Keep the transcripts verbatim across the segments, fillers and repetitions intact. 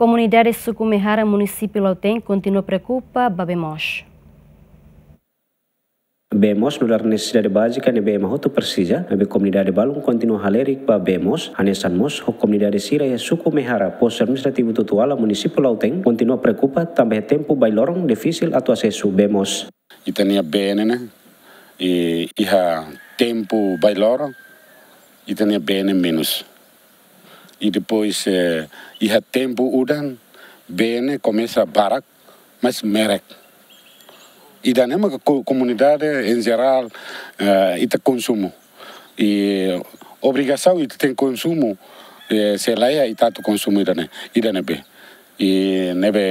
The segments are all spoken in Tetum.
Komunidade suku Mehara, munisípiu Lautém, kontinua preokupa ba bee moos. Bee moos nu'udar nesesidade bázika ne'ebé ema hotu presiza, maibé komunidade balun kontinua halerik ba bee moos, hanesan mós ho komunidade sira iha suku Mehara, postu administrativu Tutuala, munisípiu Lautém, kontinua preokupa tanba iha tempu bailoron difisil atu asesu bee moos. Ita-nia bee ne'e, i iha tempu bailoron, ita-nia bee ne'e menus. I depois, eh, iha tempu udan, bee ne'e komesa barak, mas merek. Ida-ne'e maka ko-, komunidade em geral, eh, ita konsumu. I obrigasaun ita tenke konsumu, eh, se la iha ita atu konsumu ida-ne'e, ida-ne'ebé. I ne'ebé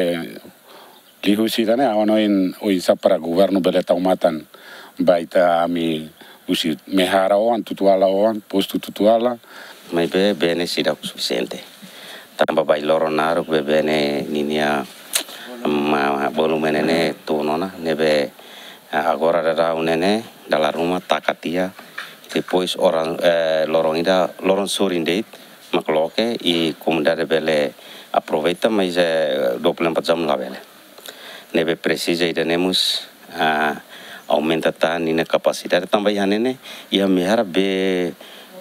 liuhusi ida-ne'e, ha'u hanoin oinsá para governu bele tau matan ba ita, ami husi Mehara oan, Tutuala oan, postu Tutuala. Maibé bee ne'e seidauk sufisiente. Tanba bailoron naruk bee, bee ne'e ninia, ma, volume ne'e tun ona, ne'ebé, ah, agora daudaun ne'e, dala ruma taka tiha, depois oran, eh, loron ida, loron sorin de'it, mak loke, i komunidade bele aproveita, mas, eh, dua puluh empat jam labele. Ne'ebé presiza ida-ne'e mós, ah, aumenta tan ninia kapasidade tanba iha ne'e ne'e, iha Mehara bee,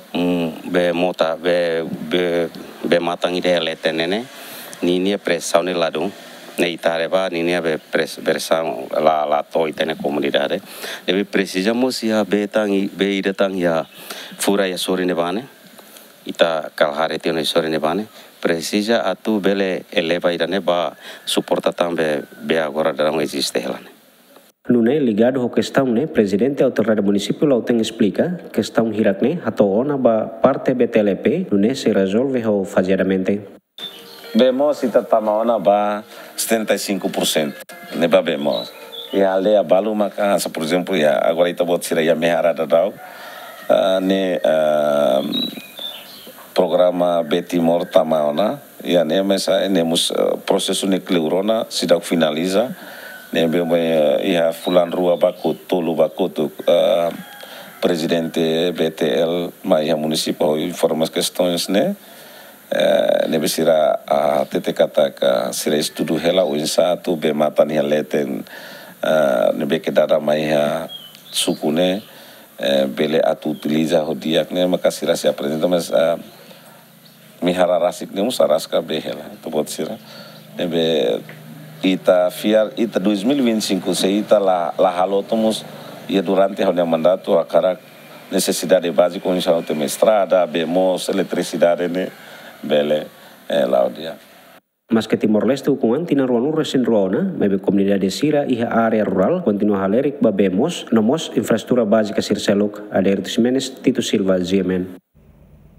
mm, bee mota, bee, bee, bee matan ida iha leten ne'e ne'e, ninia presaun ne'e ladún, ne'e ita haree ba ninia bee pres-, presaun la, la to'o ita-nia komunidade. Ne'ebé presiza mós iha bee tan i, bee ida tan iha fura iha sorin ne'ebá ne'e. Ita kala haree tiha ona iha sorin ne'ebá ne'e, presiza atu bele eleva ida-ne'e ba suporta tan bee, bee agora daudaun eziste hela ne'e. Nune'e ligadu ho kestaun ne'e, Prezidente Autoridade Munisípiu Lautém esplika, kestaun hirak ne'e hato'o ona ba parte B T L P, nune'e sei rezolve ho fazeadamente. Bee moos ita tama ona ba setenta e cinco por cento. Ne'e ba bee moos. Iha aldeia balu maka, hanesan, por ezemplu, iha, agora ita-boot sira iha Mehara daudaun, ah, ne'e, ah, programa Bee Timor tama ona, iha ne'e mós, ah, ne'e mós, ah, prosesu ne'e kleur ona, seidauk finaliza, ne'ebé, eh, iha fulan rua ba kotuk, tolu ba kotuk, ah, Prezidente B T L mai iha munisípiu hodi informa kestaun ne'e, eh, ne'ebé sira, ah, hatete katak sira estuda hela oinsá atu bee matan iha leten, ah, ne'ebé ke dada mai iha suku ne'e, eh, bele atu utiliza ho di'ak ne'e, maka sira sei aprezenta, mas, ah, Mehara rasik ne'e mós araska bee hela, ita-boot sira. Ne'ebé ita fiar, ita dois mil e vinte e cinco, se ita la, la halo to'o mós, iha durante ha'u-nia mandatu, hakarak nesesidade bázika, oinsá atu temi estrada, bee moos, eletrisidade ne'e, bele, eh, la'o di'ak. Maske Timor-Leste ukun an tinan ruanulu-resin-rua ona, maibé komunidade sira iha área rurál kontinua halerik ba bee moos, no mós infraestrutura bázika sira seluk. Adérito Ximenes, Tito Silva, G M N.